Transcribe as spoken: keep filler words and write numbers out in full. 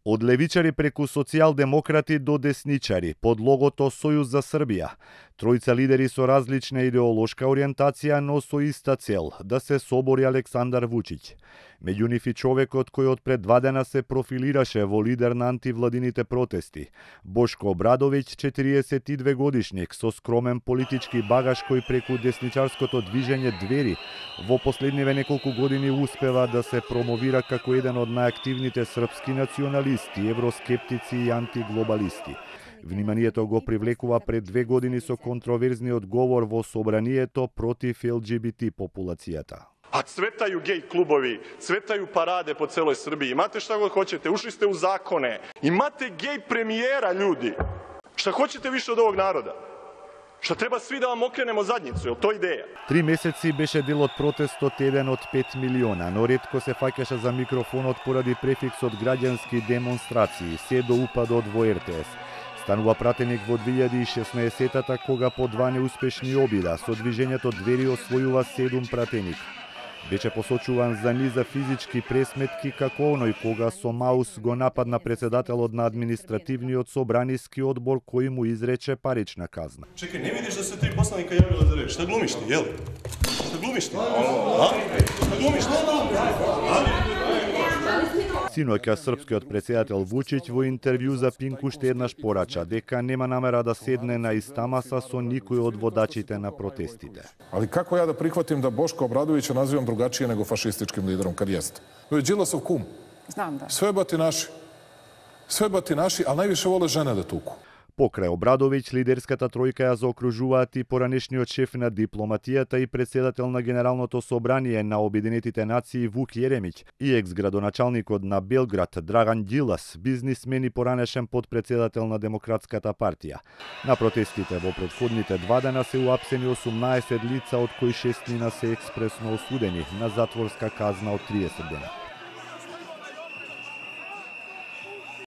Од левичари преку социјалдемократи до десничари, под логото Сојуз за Србија. Тројца лидери со различна идеолошка ориентација, но со иста цел – да се собори Александар Вучиќ. Меѓу нив и човекот кој од пред два дена се профилираше во лидер на антивладините протести. Бошко Обрадовиќ, четириесет и две годишник, со скромен политички багаж кој преку десничарското движење Двери во последниве неколку години успева да се промовира како еден од најактивните српски националисти, евроскептици и антиглобалисти. Вниманието го привлекува пред две години со контроверзниот говор во собранието против Ел Џи Би Ти популацијата. А цветају геј клубови, цветају параде по целој Србија. Имате шта го хочете, ушли сте у законе. Имате геј премиера, људи. Шта хочете више од овог народа? Што треба сви да вам окренемо задницу, е тоа идеја? Три месеци беше дел од протестот еден од пет милиона, но ретко се фаќаше за микрофонот поради префиксот граѓански демонстрации, се до упадот во Ер Те Ес. Станува пратеник во две илјади и шеснаесеттата, кога по два неуспешни обида со движењето Двери освојува седум пратеник. Беше посочуван за низа физички пресметки како оној кога со маус го нападна председателот на административниот собраниски одбор кој му изрече парична казна. Чекај, не видиш да се три посланика јавила за реч? Шта глумиш ти, јел? Шта глумиш ти? А? Шта глумиш ти? Синоќа српскиот председател Вучиќ во интервју за Пинк уште еднаш порача дека нема намера да седне на иста маса со никој од водачите на протестите. Али како ја да прихватим да Бошко Обрадовиќа називам другачије него фашистичким лидером кад јесте? Тој е Джиласов кум. Знам, да. Све батинаши. Све батинаши, а највише воле жене да туку. Покрај Обрадовиќ, лидерската тројка ја заокружуваат и поранешниот шеф на дипломатијата и председател на Генералното собрание на Обединетите нации Вук Јеремиќ и екс-градоначалникот на Белград Драган Ѓилас, бизнисмен и поранешен подпредседател на Демократската партија. На протестите во претходните два дена се уапсени осумнаесет лица, од кои шестнина се експресно осудени на затворска казна од триесет дена.